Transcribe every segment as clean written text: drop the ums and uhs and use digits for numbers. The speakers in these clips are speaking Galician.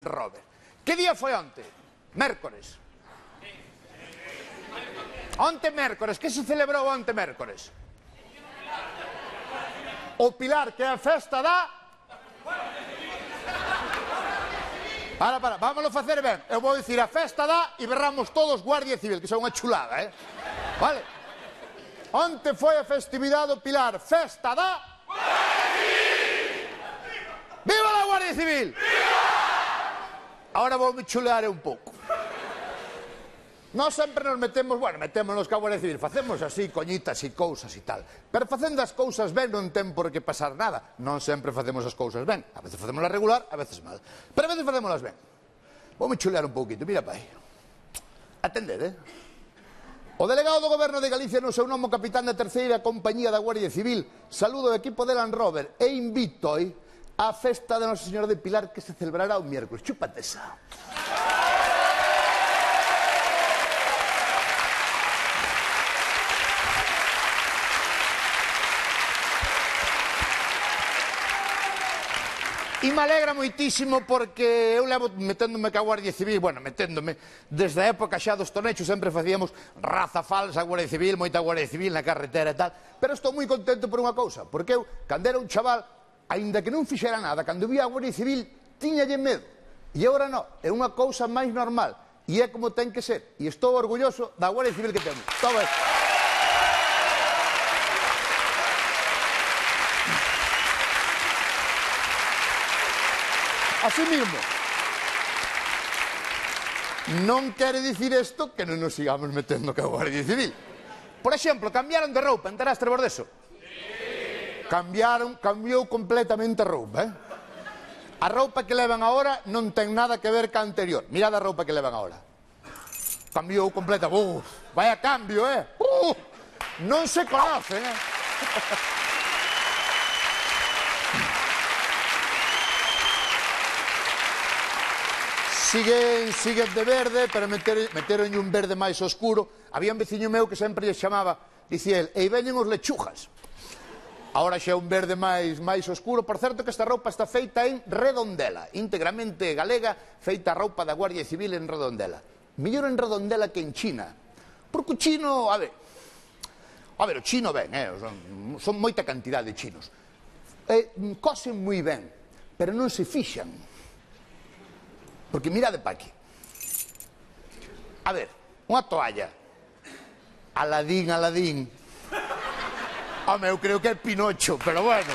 Robert. Que día foi onte? Mércores. Onte mércores. Que se celebrou onte mércores? O Pilar, que é a festa da... Para, vámonos facer ben. Eu vou dicir a festa da e berramos todos Guardia Civil, que son unha chulada, Vale? Onte foi a festividade do Pilar, festa da... Guardia Civil! Viva la Guardia Civil! Viva! Ahora vou me chulear un pouco. Nós sempre nos metemos, metémonos ca Guardia Civil, facemos así, coñitas e cousas e tal. Pero facendo as cousas ben non ten por que pasar nada. Non sempre facemos as cousas ben. A veces facémolas regular, a veces mal. Pero a veces facémolas ben. Vou me chulear un pouquito, mira pai. Atended, O delegado do Goberno de Galicia no seu nome, capitán da terceira compañía da Guardia Civil, saludo o equipo de Land Rover e invito á festa de Nosa Señora de Pilar que se celebrará o miércoles. Chúpate esa. E me alegra moitísimo porque eu levo meténdome ca Guardia Civil, meténdome, desde a época xa dos tonechos sempre facíamos raza falsa, Guardia Civil, moita Guardia Civil na carretera e tal, pero estou moi contento por unha cousa, porque eu, cando era un chaval, aínda que non fixera nada, cando vía a Guardia Civil, tiñalle medo, e agora non, é unha cousa máis normal, e é como ten que ser, e estou orgulloso da Guardia Civil que temos. Todo isto. Así mismo, non quere dicir isto que non nos sigamos metendo ca Guardia Civil. Por exemplo, cambiaron de roupa, enteraste vos deso? Sí. Cambiou completamente a roupa, A roupa que levan agora non ten nada que ver ca anterior. Mirad a roupa que levan agora. Cambiou completa. Vaya cambio, Non se conocen, Siguen de verde, pero meteron un verde máis oscuro. Había un veciño meu que sempre lle chamaba, dicía el, e veñen os lechugas. Agora xa é un verde máis oscuro. Por certo que esta roupa está feita en Redondela, íntegramente galega, feita a roupa da Guardia Civil en Redondela. Mellor en Redondela que en China. Porque o chino, a ver, o chino ben, son moita cantidade de chinos. Cosen moi ben, pero non se fixan. Porque mirade pa aquí. A ver, unha toalla. Aladín. Home, eu creo que é Pinocho, pero bueno.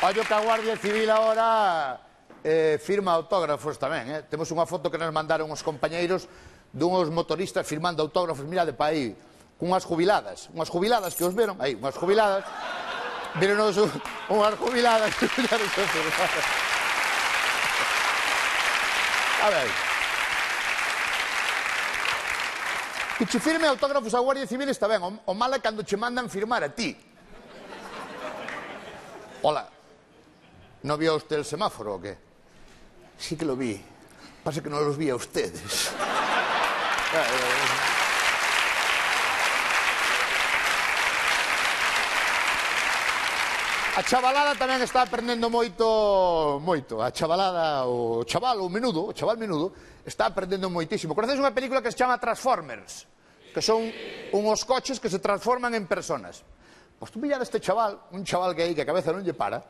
Ollo que a Guardia Civil agora firma autógrafos tamén, Temos unha foto que nos mandaron os compañeiros dunhos motoristas firmando autógrafos, mirade pa aí. Unhas jubiladas que os veron, aí, unhas jubiladas, vironos unhas jubiladas, a ver, que che firme autógrafos a Guardia Civil está ben, o mal é cando che mandan firmar a ti. Hola, ¿no vio usted el semáforo o qué? Sí que lo vi, pasa que no los vi a ustedes. A chavalada tamén está aprendendo moito. A chavalada, o chaval menudo, está aprendendo moitísimo. Conocedes unha película que se chama Transformers, que son unhos coches que se transforman en personas. Pois tú mirad este chaval, un chaval que aí que a cabeza non lle para,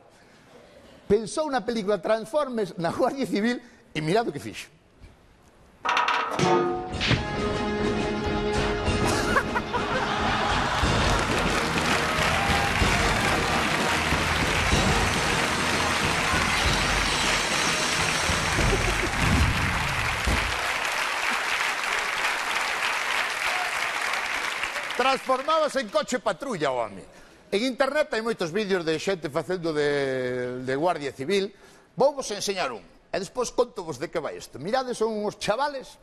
pensou na película Transformers na Guardia Civil e mirad o que fixo. Transformábase en coche patrulla o home. En internet hai moitos vídeos de xente facendo de Guardia Civil. Vouvos enseñar un, e despois contovos de que vai isto. Mirade, son uns chavales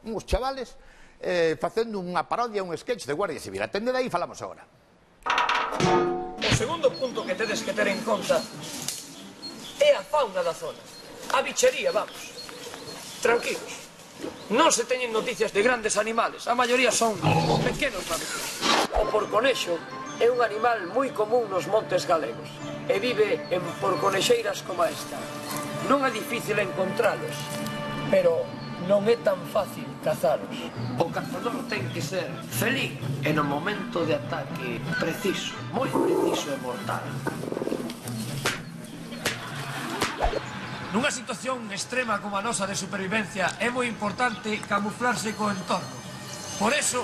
facendo unha parodia, un sketch de Guardia Civil. Atended aí e falamos agora. O segundo punto que tedes que ter en conta é a fauna da zona. A bichería, vamos. Tranquilos. Non se teñen noticias de grandes animales, a maioría son pequenos mamíferos. O porconexo é un animal moi común nos montes galegos e vive en porconexeiras como esta. Non é difícil encontralos, pero non é tan fácil cazalos. O cazador ten que ser feliz e no momento de ataque preciso, moi preciso e mortal. Nunha situación extrema como a nosa de supervivencia é moi importante camuflarse co entorno. Por eso,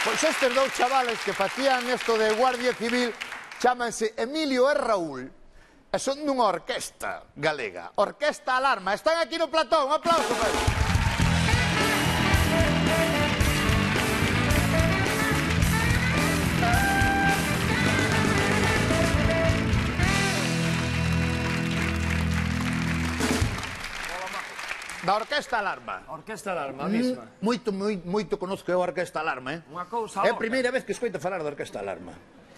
pois estes dous chavales que facían isto de Guardia Civil chámanse Emilio e Raúl e son dunha orquesta galega, Orquesta Alarma. Están aquí no platón, un aplauso para eles. Da Orquesta Alarma. Orquesta Alarma, a mesma. Moito conozco eu a Orquesta Alarma, Unha cousa É a orca. primeira vez que escoito falar da Orquesta Alarma.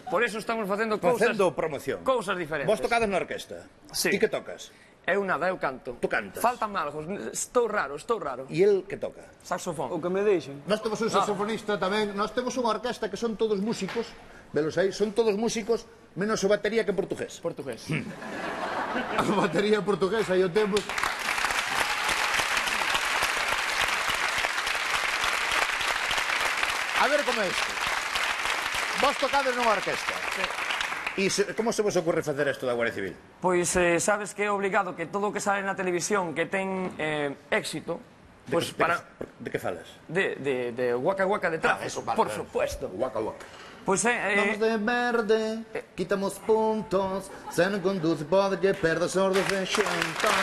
Por eso estamos facendo cousas... Facendo promoción. Cousas diferentes. Vos tocades na orquesta? Sí. Ti que tocas? Eu nada, eu canto. Tú cantas. Faltan algo, estou raro. E el que toca? Saxofón. O que me deixen. Nós temos un saxofonista tamén, nós temos unha orquesta que son todos músicos, velos aí, son todos músicos, menos o batería que é portugués. Portugués. A batería portuguesa e o temos... A ver como é isto. Vos tocades nunha orquesta. Sí. E como se vos ocurre facer isto da Guardia Civil? Pois sabes que é obligado que todo o que sale na televisión que ten éxito, pois para... De que falas? De Waka Waka de tráfico, eso vale, por vale. supuesto. Waka waka. Pois Vamos de verde, quitamos puntos, se non conduce pode que perda sordos de xentos.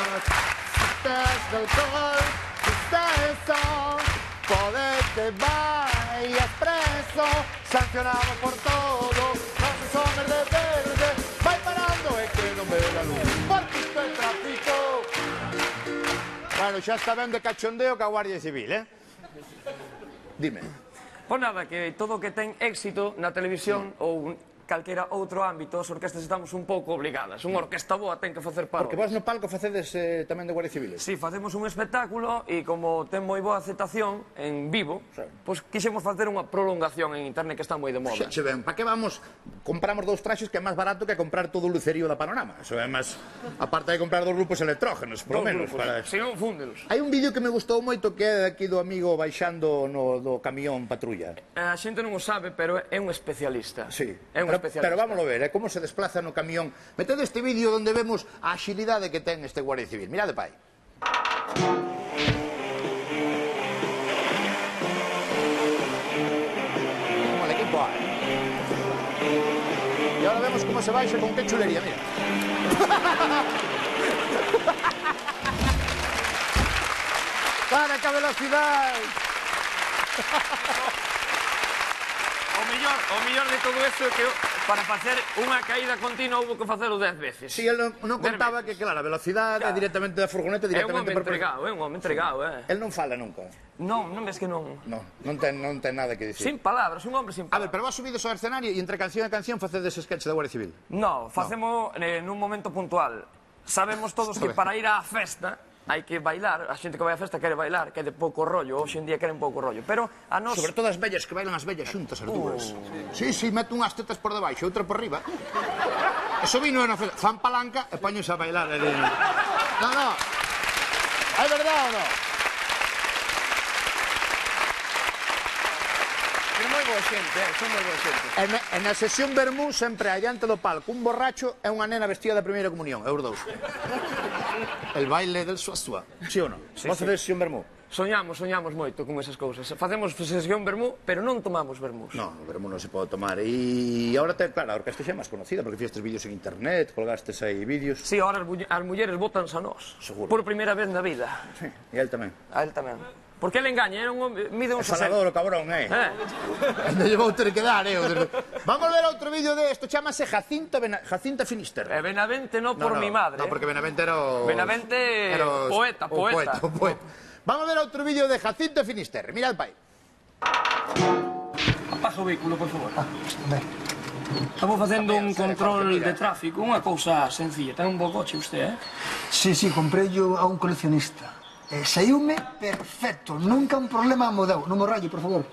Estás de alcohol, estás sol, pode que vayas preso, sancionado por todo, non se somer de verde, vai parando e que non ve la luz, porque isto é tráfico. Bueno, xa está ben de cachondeo ca Guardia Civil, Dime. Pois nada, que todo o que ten éxito na televisión ou calquera outro ámbito, as orquestas estamos un pouco obligadas. Unha orquesta boa ten que facer parodias. Porque vos no palco facedes tamén de Guardia Civil. Si, facemos un espectáculo e como ten moi boa aceptación en vivo, pois quixemos facer unha prolongación en internet que está moi de moda. Xe ben, pa que vamos? Compramos dous traxes que é máis barato que comprar todo o lucerío da Panorama. Eso é máis, aparte de comprar dos grupos electrógenos, por lo menos. Se non, fúndelos. Hai un vídeo que me gustou moito que é aquí do amigo baixando do camión patrulla. A xente non o sabe, pero é un especialista. Sí, É un especialista. pero vámoslo ver, como se desplaza no camión. Meted este vídeo onde vemos a axilidade que ten este Guardia Civil. Mirade, pai. Como el equipo A. E ahora vemos como se baixa con que chulería, mira. Para que velocidade. O mellor de todo isto é que para facer unha caída continua houve que facelo 10 veces. Si, el non contaba que, claro, a velocidade é directamente da furgoneta, É un directamente home entregado, é un home entregado, El non fala nunca. Non ves que non. Non ten nada que dicir. Sin palabras, un hombre sin A ver, palabras. pero vos subides ao escenario e entre canción e canción facedes sketch da Guardia Civil. No, facemos nun momento puntual. Sabemos todos que para ir á festa hai que bailar, a xente que vai á festa quere bailar, que é de pouco rollo, hoxe en día queren pouco rollo, pero a nos... Sobre todo as vellas, que bailan as vellas xuntas, as dúas. Sí, mete unhas tetas por debaixo, outra por riba. Eso vino na festa, fan palanca e poñense a bailar. No. É verdade ou non? É moi boa xente, son moi boa xente. E na sesión Bermú, sempre adiante do palco, un borracho e unha nena vestida da primeira comunión, os dous. El baile del suasúa, sí ou non? Sí, Vos facedes sesión Bermú? Soñamos moito con esas cousas. Facemos sesión vermú, pero non tomamos vermús. No, o vermú non se pode tomar. E agora, claro, a orquesta xa é máis conocida, porque fixestes vídeos en internet, colgastes aí vídeos. Si, ahora as mulleres botanse a nós. Seguro. Por primeira vez na vida. Sí, e el tamén. A él tamén. Porque ele engaña, era un home, mide un É falador, o cabrón, Non lle vou ter que dar, Vamos ver outro vídeo de isto, chamase Jacinta Finister. Benavente no por mi madre. No, porque Benavente era o... Benavente, poeta. Vamos ver outro vídeo de Jacinta Finister. Mirad, pai. Apaga o vehículo, por favor. Estamos facendo un control de tráfico, unha cousa sencilla. Ten un bo coche usted, Sí, comprei yo a un coleccionista. Saiume perfecto, nunca un problema mo deu. Non mo ralle, por favor.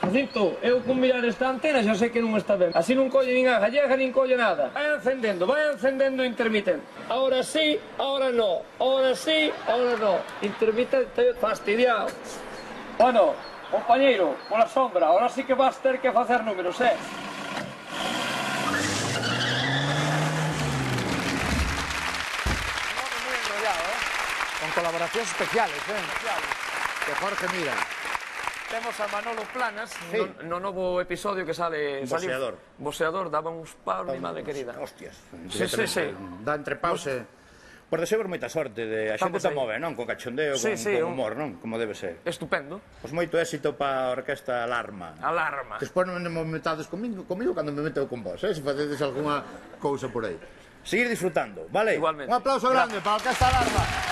Jacinto, eu con mirar esta antena xa sei que non está ben. Así non colle nin a gallega nin colle nada. Vai encendendo o intermitente. Ahora sí, ahora no. Ahora sí, ahora no. Intermitente fastidiado. Bueno, compañeiro, pola sombra, ahora sí que vas ter que facer números, Muy enrollado, con colaboracións especiales, de Jorge Mira. Temos a Manolo Planas no novo episodio que sale... Boxeador. Boxeador, daba uns paus, mi madre querida. Hostias. Sí. Dá entre paus e... Por deseo moita sorte, a xente está move, non? Con cachondeo, con humor, non? Como debe ser. Estupendo. Pois moito éxito para a orquesta Alarma. Alarma. Despois non me metades comigo cando me meteu con vos, se facedes algunha cousa por aí. Seguir disfrutando, vale? Igualmente. Un aplauso grande para a Orquesta Alarma.